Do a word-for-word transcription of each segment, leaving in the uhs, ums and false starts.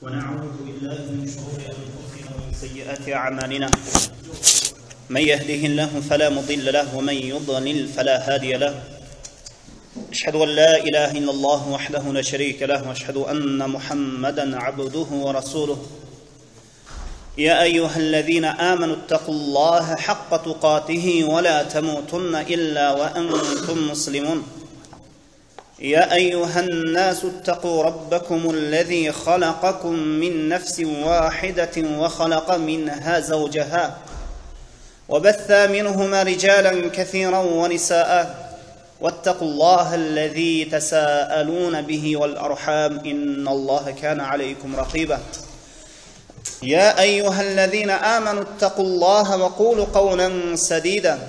ونعوذ بالله من شرور أنفسنا ومن سيئات أعمالنا من يهده الله فلا مضل له ومن يضلل فلا هادي له أشهد أن لا إله إلا الله وحده لا شريك له وأشهد أن محمدا عبده ورسوله يا أيها الذين آمنوا اتقوا الله حق تقاته ولا تموتن إلا وأنتم مسلمون يا أيها الناس اتقوا ربكم الذي خلقكم من نفس واحدة وخلق منها زوجها وبث منهما رجالا كثيرا ونساء واتقوا الله الذي تساءلون به والأرحام إن الله كان عليكم رقيبا يا أيها الذين آمنوا اتقوا الله وقولوا قولا سديدا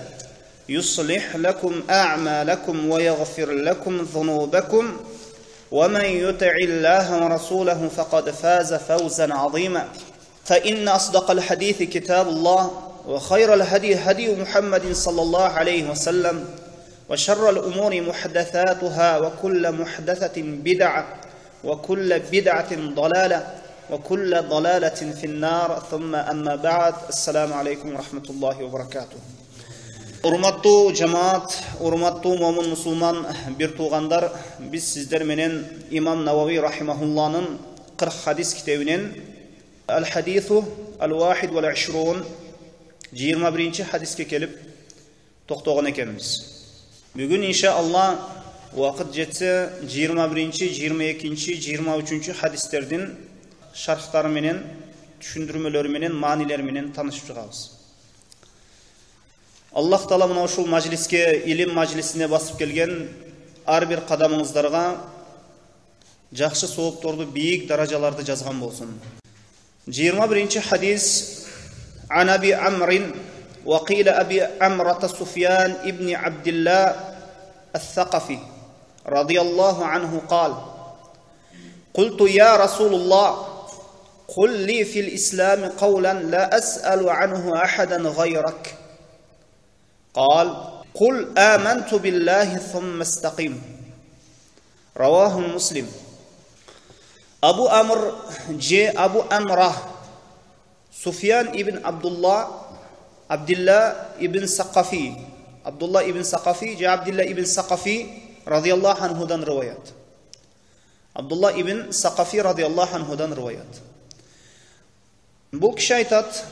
يصلح لكم أعمالكم ويغفر لكم ذنوبكم ومن يطع الله ورسوله فقد فاز فوزا عظيما فإن أصدق الحديث كتاب الله وخير الهدي هدي محمد صلى الله عليه وسلم وشر الأمور محدثاتها وكل محدثة بدعة وكل بدعة ضلالة وكل ضلالة في النار ثم أما بعد السلام عليكم ورحمة الله وبركاته. Урматтуу жамаат, урматтуу момун мусулман бир туугандар, биз сиздер менен имам Навави рахимахулланын кырк хадис китебинен Ал-Хадису Ал-Вахид вал Ишрун жыйырма биринчи хадиске келип токтогон экенбиз. Бүгүн иншаалла убакыт жетсе жыйырма биринчи, жыйырма экинчи, жыйырма үчүнчү хадистердин шархтары менен, түшүндүрмөлөрү менен, маанилери менен таанышып чыгабыз. Аллах Таала мына ушул мажлиске, илим мажлисине басып келген ар бир кадамыңыздарга жакшы соопторду, бийик даражаларды жазган болсун. жыйырма биринчи хадис Ан Аби Амрин ва кила Аби Амрата Суфьян ибн Абдилlah ас-Сакафи радияллаху анху قال قلت يا رسول الله قل لي في الإسلام قولا لا أسأل عنه أحدا غيرك قال قل آمنت بالله ثم استقيم رواه مسلم. أبو أمر جي أبو أمره سفيان ابن عبد الله عبد الله ابن سقفي عبد الله ابن سقفي جي عبد الله ابن سقفي رضي الله عنه دان روايات عبد الله ابن سقفي رضي الله عنه دان روايات. Бул киши айтат,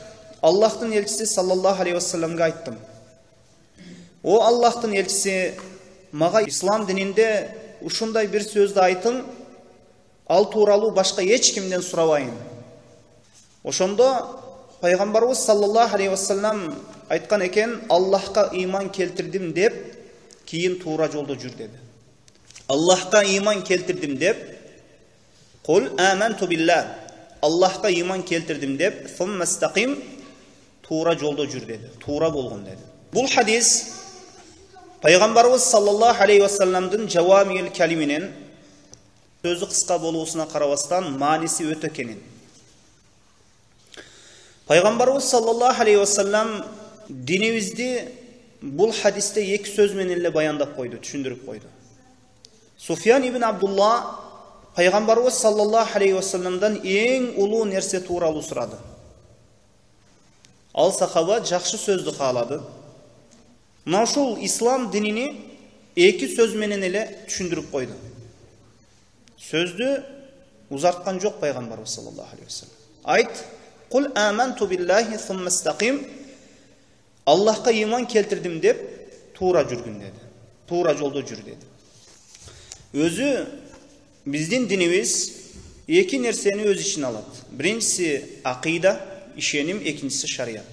Аллахтын элчиси саллаллаху алейхи вассаламга айттым: О Аллахтын элчиси, мага ислам дининде ушундай бир сөздү айтың, ал тууралуу башка эч кимден сурабайын. Ошондо пайгамбарыбыз саллаллаху алейхи вассалам айткан экен: Аллахка ыйман келтирдим деп, кийин туура жолдо жүр деди. Аллахка ыйман келтирдим деп, Кул аманту билlah, Аллахка ыйман келтирдим деп, сумма стақим, туура жолдо жүр деди. Туура болгон деди. Бул хадис пайгамбарыбыз саллаллаху алейхи вассаламдын жавамил калиминен сөзү кыска болуусуна карабастан мааниси өтө кенен. Пайгамбарыбыз саллаллаху алейхи вассалам динибизди бул хадисте эки сөз менен эле баяндап койду, түшүндүрүп койду. Суфьян ибн Абдулла пайгамбарыбыз саллаллаху алейхи вассаламдан эң улуу нерсе тууралуу сурады. Ал сахаба жакшы сөздү каалады. Мына ушул ислам динини эки сөз менен эле түшүндүрүп койду. Сөздү узарткан жок пайгамбарыбыз саллаллаху алейхи вассалам. Айт: Кул аманту биллахи сумма стақим, Аллахка ыйман келтирдим деп, туура жүргүн деди. Туура жолдо жүр деди. Өзү биздин динибиз эки нерсени өз ичине алат. Биринчиси акыйда, ишеним, экинчиси шарият.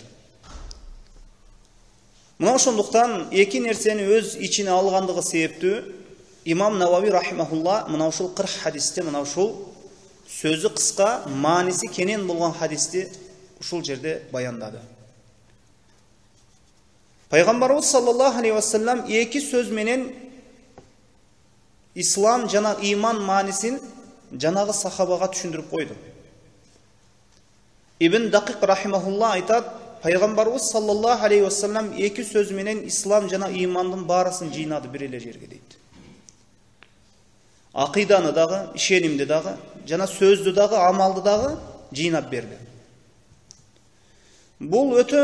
Мына ошондуктан эки нерсени өз ичине алгандыгы себептүү имам Навави рахимахулла мына ушул кырк хадисте мына ушул сөзү кыска, мааниси кенен болгон хадисти ушул жерде баяндады. Пайгамбарыбыз саллаллаху алейхи вассалам эки сөз менен ислам жана ыйман маанисин жанагы сахабага түшүндүрүп койду. Ибн Дакик рахимахулла айтат, пайгамбарыбыз саллаллаху алейхи вассалам эки сөз менен ислам жана ыймандын баарысын жыйнады бир эле жерге дейт. Акыйданы дагы, ишенимди дагы жана сөздү дагы, амалды дагы жыйнап берди. Бул өтө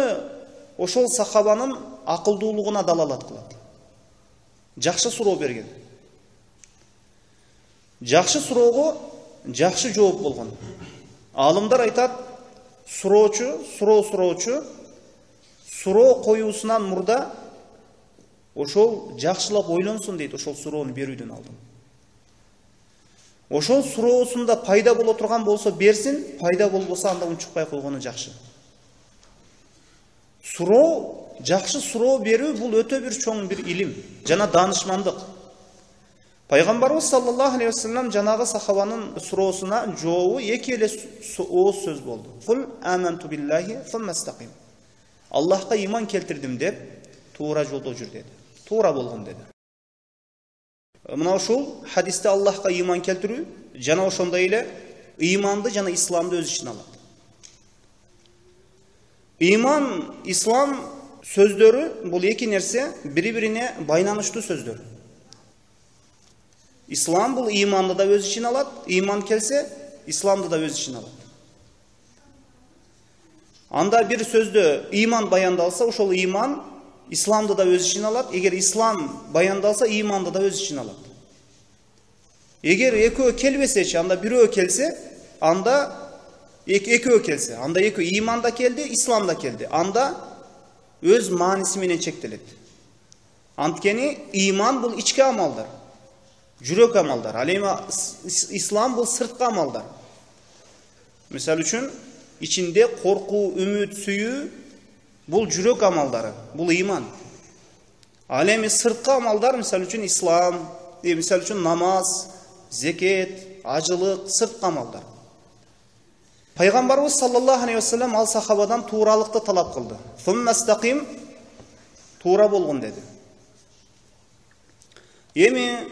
ошол сахабанын акылдуулугуна далалат кылат. Жакшы суроо берген. Жакшы суроого жакшы жооп болгон. Алымдар айтат, суроочу, суроо суроочу суроо коюусунан мурда ошол жакшылап ойлонсун дейт, ошол суроону берүүдөн алдын. Ошол суроосунда пайда боло турган болсо берсин, пайда болбосо анда унчукпай койгону жакшы. Суроо, жакшы суроо берүү бул өтө бир чоң бир илим жана даанышмандык. Пайгамбарыбыз саллаллаху алейхи вассалам жанагы сахабанын суроосуна жообу эки эле ооз сөз болду. Кул аманту биллахи фаммастаким. Аллахка иман келтирдим деп, туура жолдо жүр деди. Туура болгон деди. Мына ушул хадисте Аллахка иман келтирүү жана ошондой эле иманды жана исламды өз ичине алат. Иман, ислам сөздөрү бул эки нерсе бири-бирине байланыштуу сөздөр. Ислам бул иманды да өз ичине алат, иман келсе, исламды да өз ичине алат. Анда бир сөздө иман баяндалса, ошол иман исламды да өз ичине алат. Эгер ислам баяндалса, иманды да өз ичине алат. Эгер экөө келбесечи, анда бирөө келсе, анда экөө келсе, анда экөө иман да келди, ислам да келди. Анда өз мааниси менен чектелет. Анткени иман бул ички амалдар, жүрөк амалдар. Ал эми ислам бул сырткы амалдар. Мисалы үчүн ичинде коркуу, үмүт, сүйүү бул жүрөк амалдары, бул иман. Ал эми сырткы амалдар, мисалы үчүн ислам, мисалы үчүн намаз, зекет, ажылык, сырткы амалдар. Пайгамбарыбыз саллаллаху алейхи вассалам ал сахабадан тууралыкты талап кылды. Фуммастаким, туура болгон деди. Эми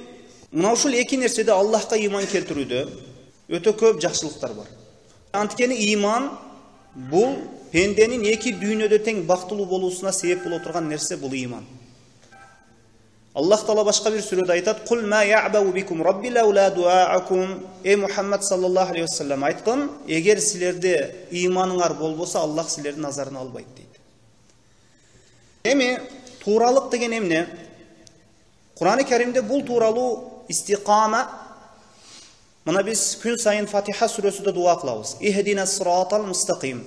мына ушул эки нерседе Аллахка иман келтирүүдө өтө көп жакшылыктар бар. Анткени иман бул пенденин эки дүйнөдө тең бактылуу болуусуна себеп боло турган нерсе бул иман. Аллах Таала башка бир сүрөдө айтат: "Кул ма я'бау бикум рабби лаула дуаакум". Эй Мухаммад саллаллаху алейхи вассалам айткан, эгер силерде иманыңар болбосо, Аллах силердин назарына албайт дейт. Эми тууралык деген эмне? Кур'ан-ы Каримде бул тууралуу истиқама, мына биз күн сайын Фатиха сүрөсүдө дуа кылабыз. Ихдинас сиратал мустақим.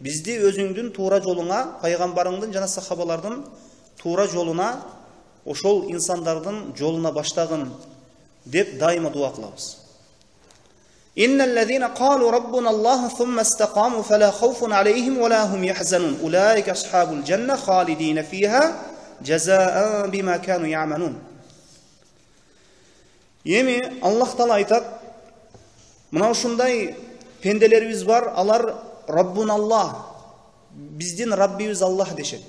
Бизди өзүңдүн туура жолуңа, пайгамбарыңдын жана сахабалардын туура жолуна, ошол инсандардын жолуна баштагын деп дайыма дуа кылабыз. Инналлазина қалу раббуна Аллах сумма истақаму фала хауфун алейхим ва ла хум яхзанун. Улаика асхабул жанна халидина фиха жазаан бима кану я'малун. Эми Аллах Таала айтат, мына ушундай пенделерибиз бар, алар Раббун Аллах, биздин Раббибиз Аллах дешет.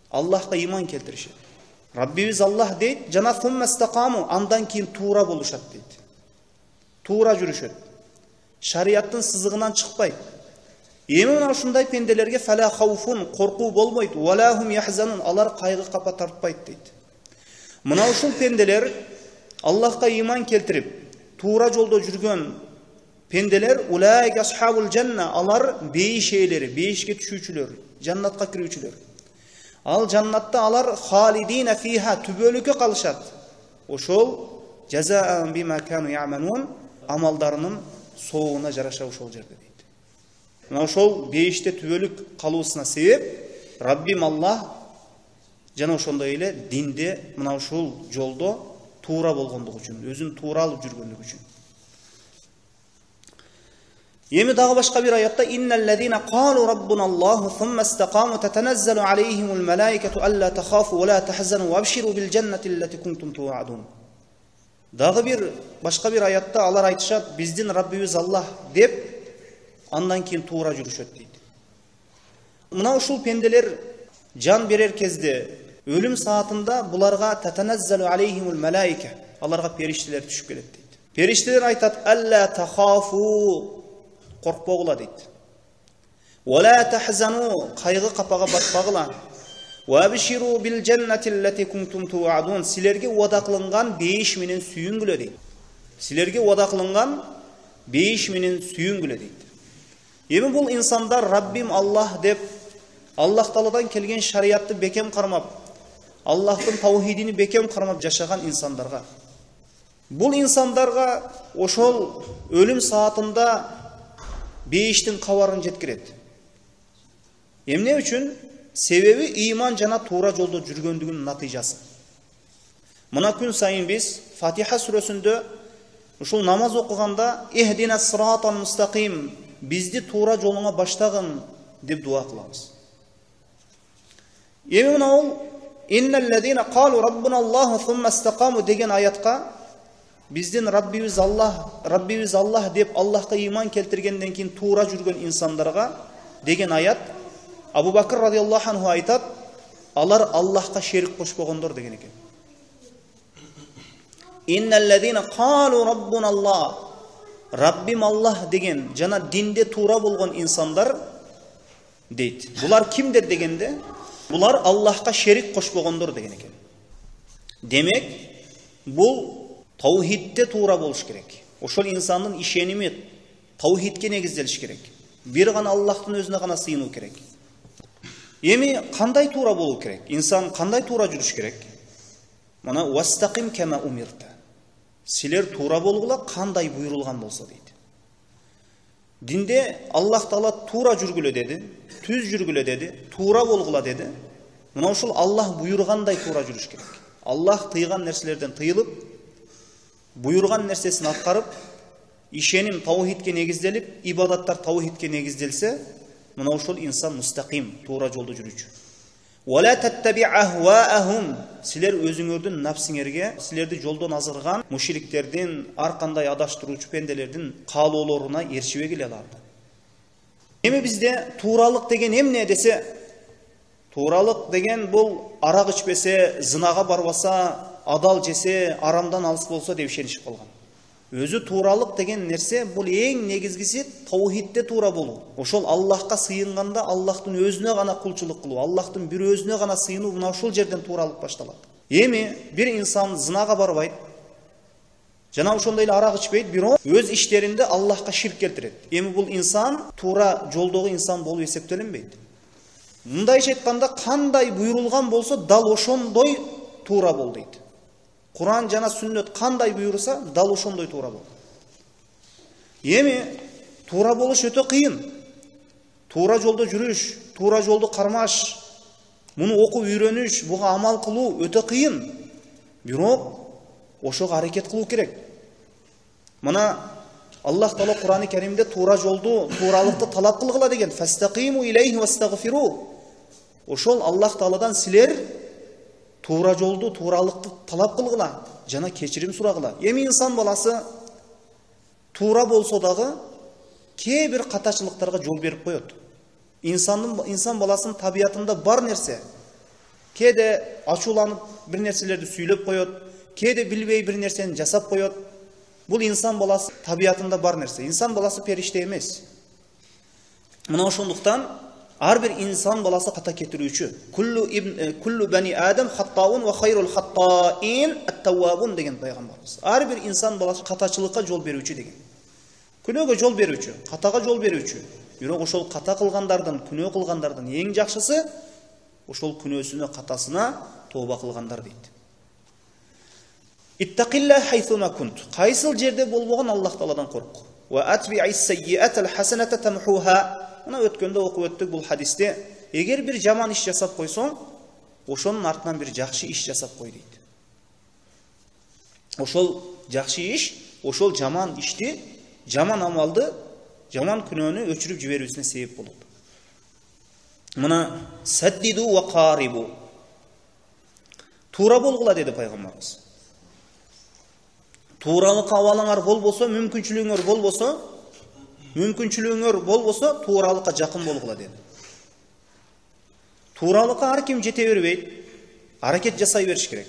Аллахка иман келтиришет. Раббибиз Аллах дейт, жана сумма истақаму, андан кийин туура болушат дейт. Туура жүрүшөт. Шариаттын сызыгынан чыкпайт. Эми мына ушундай пенделерге фала хауфун, коркуу болбойт, ва ла хум яхзанун, алар кайгы капа тартпайт дейт. Мына ушул пенделер Аллахка иман келтирип, туура жолдо жүргөн пенделер, улайка асхабул жанна, алар бейиш ээлери, бейишке түшүүчүлөр, жаннатка кирүүчүлөр. Ал жаннатта алар халидина фиха, түбөлүккө калышат. Ошол жазаан бима кану я'малун, амалдарынын соогуна жараша ошол жерде дейт. Мына ошол бейиште түбөлүк калуусуна себеп Раббим Аллах жана ошондой эле динде мына ушул жолдо туура болгондугу үчүн, өзүн туура алып жүргөндүгү үчүн. Эми дагы башка бир аятта инналлазина қалу раббуна Аллаху сумма истақаму татаназзалу алейхимул малаикату алла тахафу ва ла тахзану вабширу бил жаннати аллати кунтум туадун. Дагы бир башка бир аятта алар айтышат, биздин Раббибиз Аллах деп, андан кийин туура жүрүшөт дейт. Мына ушул пенделер жан берер кезде, өлүм саатында буларга татаназзалу алейхимул малаика, аларга периштелер түшүп келет дейт. Периштелер айтат: алла тахафу, коркпогула дейт. Ва ла тахзану, кайгы капага батпагыла. Ва абширу бил жаннати аллати кунтум туадун, силерге уада кылынган бейиш менен сүйүнгүлө дейт. Силерге уада кылынган бейиш менен сүйүнгүлө дейт. Эми бул инсандар Раббим Аллах деп Аллах Тааладан келген шариятты бекем кармап, Аллахтын таухидини бекем кармап жашаган инсандарга, бул инсандарга ошол өлүм саатында бейиштин кабарын жеткирет. Эмне үчүн? Себеби ыйман жана туура жолдо жүргөндүгүнүн натыйжасы. Мына күн сайын биз Фатиха сүрөсүндө ушул намаз окуганда «Ихдина сиратал мустаким», бизди туура жолуңа баштагын деп дуа кылабыз. Эми мына ол «Инналлазина қалу раббуна Аллаху сумма истақаму» деген аятка биздин Раббибиз Аллах, Раббибиз Аллах деп Аллахка ыйман келтиргенден кийин туура жүргөн инсандарга деген аят Абу Бакр радиаллаху анху айтат, алар Аллахка шерик кошпогондор деген экен. Инналлазина қалу раббуна Аллах, Раббим Аллах деген жана динде туура болгон инсандар дейт. Булар кимдер дегенде, булар Аллахка шерик кошпогондор деген экен. Демек, бул таухидте туура болуш керек. Ошол инсандын ишеними таухидке негизделиш керек. Бир гана Аллахтын өзүнө гана сыйынуу керек. Эми кандай туура болуу керек? Инсан кандай туура жүрүш керек? Мына вастақим кама умирта. Силер туура болгула кандай буйрулган болсо дейт. Динде Аллах Таала туура жүргүлө деди, түз жүргүлө деди, туура болгула деди. Мына ушул Аллах буйргандай туура жүрүш керек. Аллах тыйган нерселерден тыйылып, буйрган нерсесин аткарып, ишеним таухидке негизделип, ибадаттар таухидке негизделсе, мына ушул инсан мустақим, туура жолдо жүрүүчү. Вала таттаби ахваахум, силер өзүңөрдүн нафсиңерге, силерди жолдон азырган мушриктердин, ар кандай адаштыруучу пенделердин каалоолоруна эрчибегиле аларды. Эми бизде тууралык деген эмне десе, тууралык деген бул арак ичпесе, зынага барбаса, адал жесе, арамдан алыс болсо деп ишенишип калган. Өзү тууралык деген нерсе бул эң негизгиси таухидте туура болуу. Ошол Аллахка сыйынганда Аллахтын өзүнө гана кулчулук кылуу, Аллахтын бир өзүнө гана сыйынуу, мына ушул жерден тууралык башталат. Эми бир инсан зынага барбайт, жана ошондой эле арак ичпейт, бирок өз иштеринде Аллахка ширк келтирет. Эми бул инсан туура жолдогу инсан болуп эсептелинбейт. Мындайча айтканда, кандай буйрулган болсо дал ошондой туура бол дейт. Куран жана сүннөт кандай буйруса, дал ошондой туура бол. Эми туура болуш өтө кыйын. Туура жолдо жүрүш, туура жолду кармаш, муну окуп үйрөнүш, буга амал кылуу өтө кыйын. Бирок ошого аракет кылуу керек. Мына Аллах Таала Курани Керимде туура жолду, тууралыкты талап кылгыла деген. Фастақиму илейхи вастагфиру. Ошол Аллах Тааладан силер туура жолду, тууралыкты талап кылгыла, жана кечирим сурагыла. Эми инсан баласы туура болсо дагы кээ бир катачылыктарга жол берип коет. Инсандын инсан баласынын табиятында бар нерсе. Кээде ачууланып бир нерселерди сүйлөп коет, кээде билбей бир нерсени жасап коет. Бул инсан баласы табиятында бар нерсе. Инсан баласы периште эмес. Мына ошондуктан ар бир инсан баласы ката кетирүүчү. Куллу ибн куллу бани адам хаттаун ва хайрул хаттаин ат-таввабун деген пайгамбарыбыз. Ар бир инсан баласы катачылыкка жол берүүчү деген. Күнөөгө жол берүүчү, катага жол берүүчү. Бирок ошол ката кылгандардын, күнөө кылгандардын эң жакшысы ошол күнөөсүнө, катасына тооба кылгандар дейт. Иттақилла хайсума кунт. Кайсыл жерде болбогон Аллах Тааладан корк. Ва атби'ис саййиатал хасаната тамхуха. Мына өткөндө окуп өттүк бул хадисте, эгер бир жаман иш жасап койсоң, ошонун артынан бир жакшы иш жасап кой дейт. Ошол жакшы иш, ошол жаман ишти, жаман амалды, жаман күнөөнү өчүрүп жиберүүсүнө себеп болот. Мына саддиду ва қарибу. Туура болгула деди пайгамбарыбыз. Тууралык абалыңар болбосо, мүмкүнчүлүгүңөр болбосо, мүмкүнчүлүгүңөр болбосо, тууралыкка жакын болгула деди. Тууралыкка ар ким жете бербейт, аракет жасай бериш керек.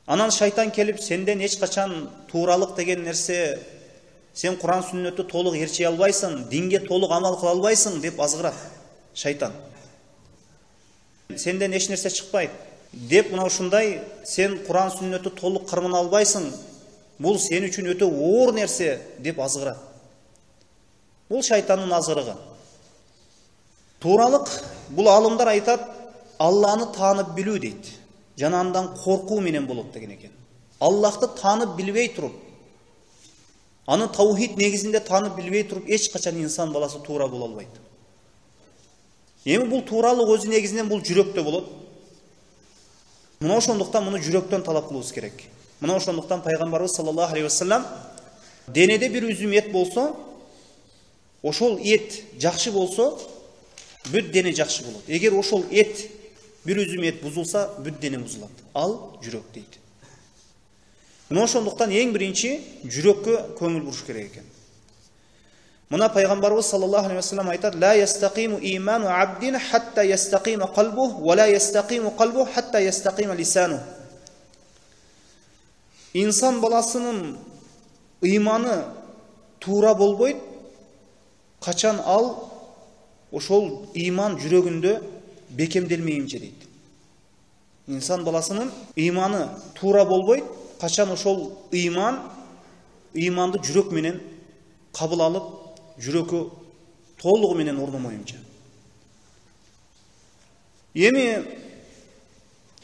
Анан шайтан келип, сенден эч качан тууралык деген нерсе, сен Куран сүннөттү толук эрчи албайсың, динге толук амал кыла албайсың деп азгырат шайтан. Сенден эч нерсе чыкпайт деп, мына ушундай, сен Куран сүннөттү толук кырмына албайсың, бул сен үчүн өтө оор нерсе деп азгырат. Бул шайтандын азгырыгы. Тууралык бул алымдар айтат, Алланы таанып билүү дейт. Жана андан коркуу менен болот деген экен. Аллахты таанып билбей туруп, аны таухид негизинде таанып билбей туруп, эч качан инсан баласы туура боло албайт. Эми бул тууралык өзү негизинен бул жүрөктө болот. Мына ошондуктан муну жүрөктөн талап кылабыз керек. Мына ошондуктан пайгамбарыбыз саллаллаху алейхи вассалам денеде бир үзүм эт болсо, ошол эт жакшы болсо, бүт дене жакшы болот. Эгер ошол эт бир үзүм эт бузулса, бүт дене бузулат. Ал жүрөк дейт. Мына ошондуктан эң биринчи жүрөккө көңүл буруш керек экен. Мына пайгамбарыбыз саллаллаху алейхи вассалам айтат: "Ла ястакиму иману абдин хатта ястакима калбу, ва ла ястакиму калбу хатта ястакима лисану." Инсан баласынын ыйманы туура болбойт, качан ал ошол ыйман жүрөгүндө бекемделмейинче дейт. Инсан баласынын ыйманы туура болбойт, качан ошол ыйман ыйманды жүрөк менен кабыл алып, жүрөккө толугу менен орномоюнча. Эми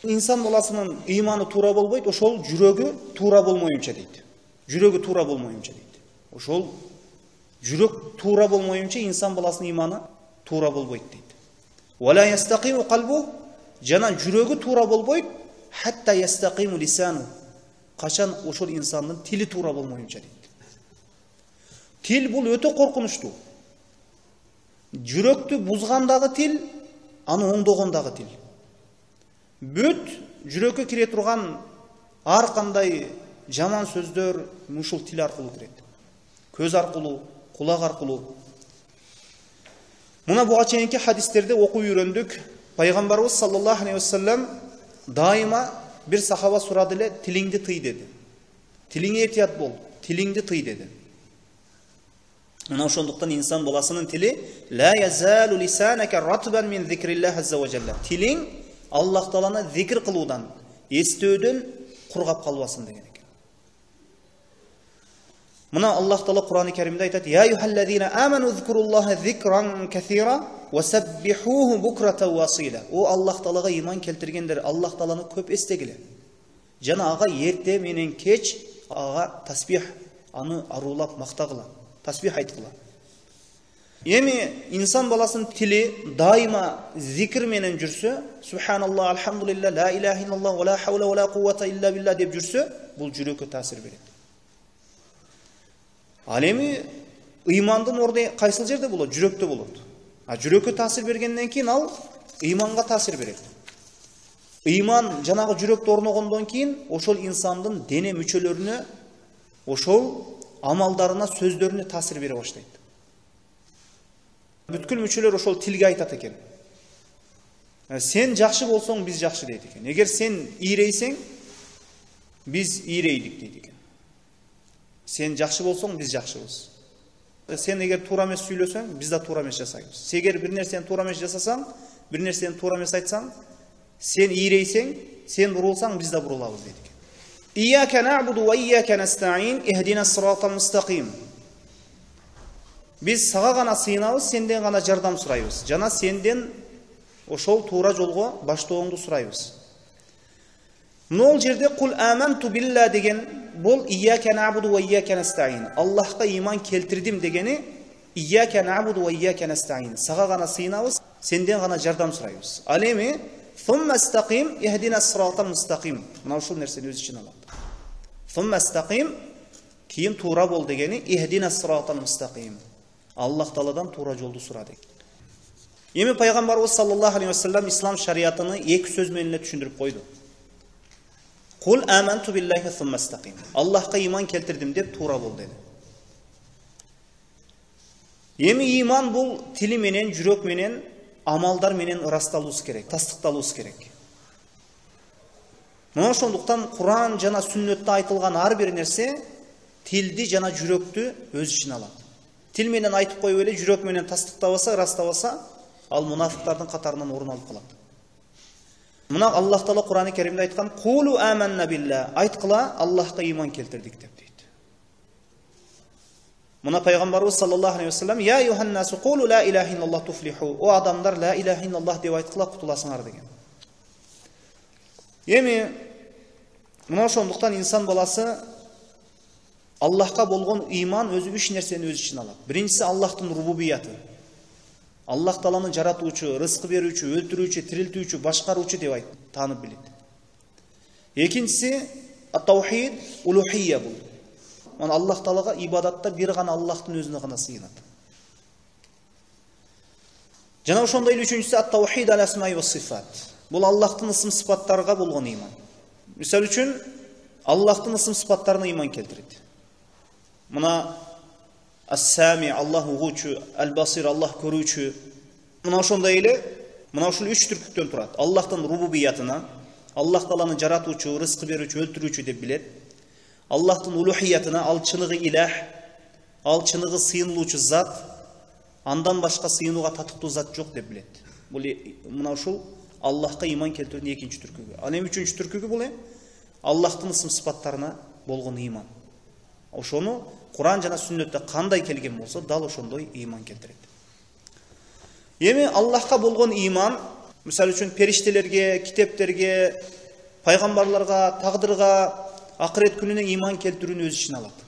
инсан баласынын ыйманы туура болбойт, ошол жүрөгү туура болмоюнча дейт. Жүрөгү туура болмоюнча дейт. Ошол жүрөк туура болмоюнча инсан баласынын ыйманы туура болбойт дейт. Вала ястакиму калбу, жана жүрөгү туура болбойт, хатта ястакиму лисану, качан ошол инсандын тили туура болмоюнча дейт. Тил бул өтө коркунучтуу. Жүрөктү бузгандагы тил, аны оңдогондагы тил. Бүт жүрөккө кире турган ар кандай жаман сөздөр ушул тил аркылуу кирет. Көз аркылуу, кулак аркылуу. Мына буга чейинки хадистерде окуп үйрөндүк. Пайгамбарыбыз саллаллаху алейхи вассалам дайыма бир сахаба сурады эле, тилиңди тый деди. Тилиңе этият бол, тилиңди тый деди. Мына ошондуктан инсан баласынын тили ла язалу лисанака ратбан мин зикриллах азза ва жалла. Тилиң Аллах тааланы зикр кылуудан, эстөөдөн кургап калбасын деген экен. Мына Аллах таала Кур'ан-ы Каримде айтат: "Я юхаллазина аману зикруллаха зикран касира ва саббихуху букрата ва асила." О Аллах таалага иман келтиргендер, Аллах тааланы көп эстегиле. Жана ага эрте менен кеч ага тасбих, аны арулап мактагыла, тасбих айткыла. Эми инсан баласынын тили дайыма зикр менен жүрсө, субханаллах, алхамдулилlah, ла илаха иллаллах, ва ла хаула ва ла куввата илля билlah деп жүрсө, бул жүрөккө таасир берет. Ал эми ыймандын орду кайсыл жерде болот? Жүрөктө болот. А жүрөккө таасир бергенден кийин ал ыйманга таасир берет. Ыйман жанагы жүрөктө орногондон кийин ошол инсандын дене мүчөлөрүнө, ошол амалдарына, сөздөрүнө таасир бере баштайт. Бүткүл мүчөлөр ошол тилге айтат экен. Сен жакшы болсоң, биз жакшы дейт экен. Эгер сен ийрейсең, биз ийрейдик дейт экен. Сен жакшы болсоң, биз жакшыбыз. Сен эгер туура эмес сүйлөсөң, биз да туура эмес жасайбыз. Эгер бир нерсени туура эмес жасасаң, бир нерсени туура эмес айтсаң, сен ийрейсең, сен бурулсаң, биз да бурулабыз дейт экен. Ияка нa'буду ва ияка настаин ихдинас сиратал мустaqim. Биз сага гана сыйынабыз, сенден гана жардам сурайбыз. Жана сенден ошол туура жолго баштооңду сурайбыз. Мына жерде кул аманту билла деген бул ияка нa'буду ва ияка настаин. Аллахка иман келтирдим дегени ияка нa'буду ва ияка настаин. Сага гана сыйынабыз, сенден гана жардам сурайбыз. Ал эми thumma istaqim ihdinас сиратал мустaqим. Мына ушул нерсени өз ичине алат. Thumma istaqim кийин туура бол дегени ихдинас сиратал мустaqим. Аллах Тааладан туура жолду сура деген. Эми пайгамбарыбыз саллаллаху алейхи вассалам ислам шариятын эки сөз менен эле түшүндүрүп койду. Кул аманту биллахи thumma istaqim. Аллахка иман келтирдим деп туура бол деди. Эми иман бул тили менен, жүрөк менен, амалдар менен ырасталуус керек, тастыкталуус керек. Мына ошондуктан Кур'ан жана сүннөттө айтылган ар бир нерсе тилди жана жүрөктү өз ичине алат. Тил менен айтып коюп эле жүрөк менен тастыктабаса, ырастабаса, ал мунафиктардын катарынан орун алып калат. Мына Аллах Таала Кур'ан-ы Каримде айткан: "Кулу аманна билла", айткыла, Аллахка иман келтирдик деп дейт. Мына пайгамбарыбыз саллаллаху алейхи ва саллям: "Я юханнасу кулу ла илаха иллаллах туфлиху". О адамдар, ла илаха иллаллах деп айткыла кутуласыңар деген. Эми мына ошондуктан инсан баласы Аллахка болгон ыйман өзү үч нерсени өз ичине алат. Биринчиси Аллахтын рубубияты. Аллах Тааланы жаратуучу, рызкы берүүчү, өлтүрүүчү, тирилтүүчү, башкаруучу деп айт, таанып билет. Экинчиси ат-таухид, улухия бул. Мына Аллах Таалага ибадатта бир гана Аллахтын өзүнө гана сыйынат. Жана ошондой эле үчүнчүсү ат-таухид ал-асмаи ва сифат. Бул Аллахтын ысым сыпаттарга болгон ыйман. Мисалы үчүн Аллахтын ысым сыпаттарына ыйман келтирет. Мына ас-сами, Аллах угуучу, ал-басир, Аллах көрүүчү. Мына ошондой эле мына ушул үч түркүктөн турат. Аллахтын рубубиятына, Аллах Тааланы жаратуучу, рызкы берүүчү, өлтүрүүчү деп билет. Аллахтын улухиятына, ал чыныгы илах, ал чыныгы сыйынылуучу зат, андан башка сыйынууга татыктуу зат жок деп билет. Бул мына ушул Аллахка ыйман келтирүүнүн экинчи түркүгү. Ал эми үчүнчү түркүгү бул эми Аллахтын ысым сыпаттарына болгон ыйман. Ошону Куран жана сүннөттө кандай келген болсо, дал ошондой ыйман келтирет. Эми Аллахка болгон ыйман, мисалы үчүн периштелерге, китептерге, пайгамбарларга, тагдырга, акырет күнүнө ыйман келтирүүнү өз ичине алат.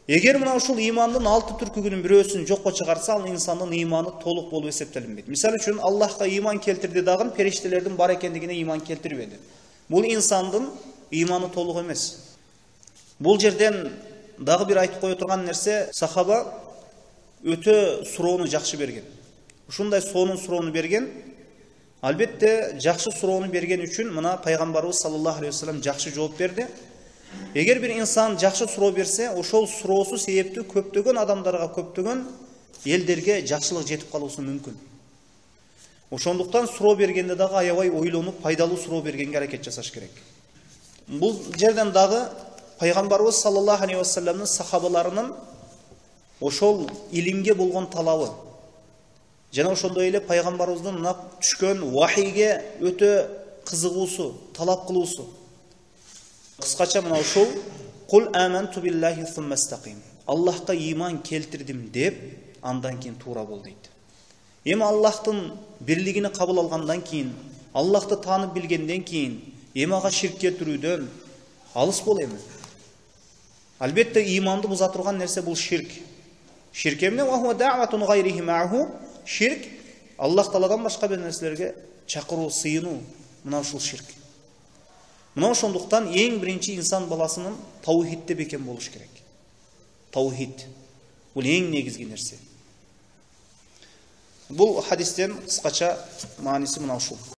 Эгер мына ушул ыймандын алты түркүгүнүн бирөөсүн жокко чыгарса, ал инсандын ыйманы толук болуп эсептелинбейт. Мисалы үчүн Аллахка ыйман келтирди дагы периштелердин бар экендигине ыйман келтирбеди. Бул инсандын ыйманы толук эмес. Бул жерден дагы бир айтып кое турган нерсе, сахаба өтө суроону жакшы берген. Ушундай сонун суроону берген. Албетте жакшы суроону берген үчүн мына пайгамбарыбыз саллаллаху алейхи ва саллям жакшы жооп берди. Эгер бир инсан жакшы суроо берсе, ошол суроосу себептүү көптөгөн адамдарга, көптөгөн элдерге жакшылык жетип калуусу мүмкүн. Ошондуктан суроо бергенде дагы аябай ойлонуп, пайдалуу суроо бергенге аракет жасаш керек. Бул жерден дагы пайгамбарыбыз саллаллаху алейхи ва саллямдын сахабаларынын ошол илимге болгон талабы жана ошондой эле пайгамбарыбыздын мына түшкөн вахийге өтө кызыгуусу, талап кылуусу. Кыскача мына ушул кул аманту биллахи сумма истаким. Аллахка ыйман келтирдим деп, андан кийин туура бол дейт. Эми Аллахтын бирлигини кабыл алгандан кийин, Аллахты таанып билгенден кийин, эми ага ширк келтирүүдөн алыс бол эми. Албетте ыйманды буза турган нерсе бул ширк. Ширк эмне? Ва хуа да'ватун гайрихи ма'ху. Ширк Аллах Тааладан башка бир нерселерге чакыруу, сыйынуу. Мына ушул ширк. Мына ошондуктан эң биринчи инсан баласынын таухидте бекен болуш керек. Таухид. Бул эң негизги нерсе. Бул хадистен кыскача мааниси мына ушул.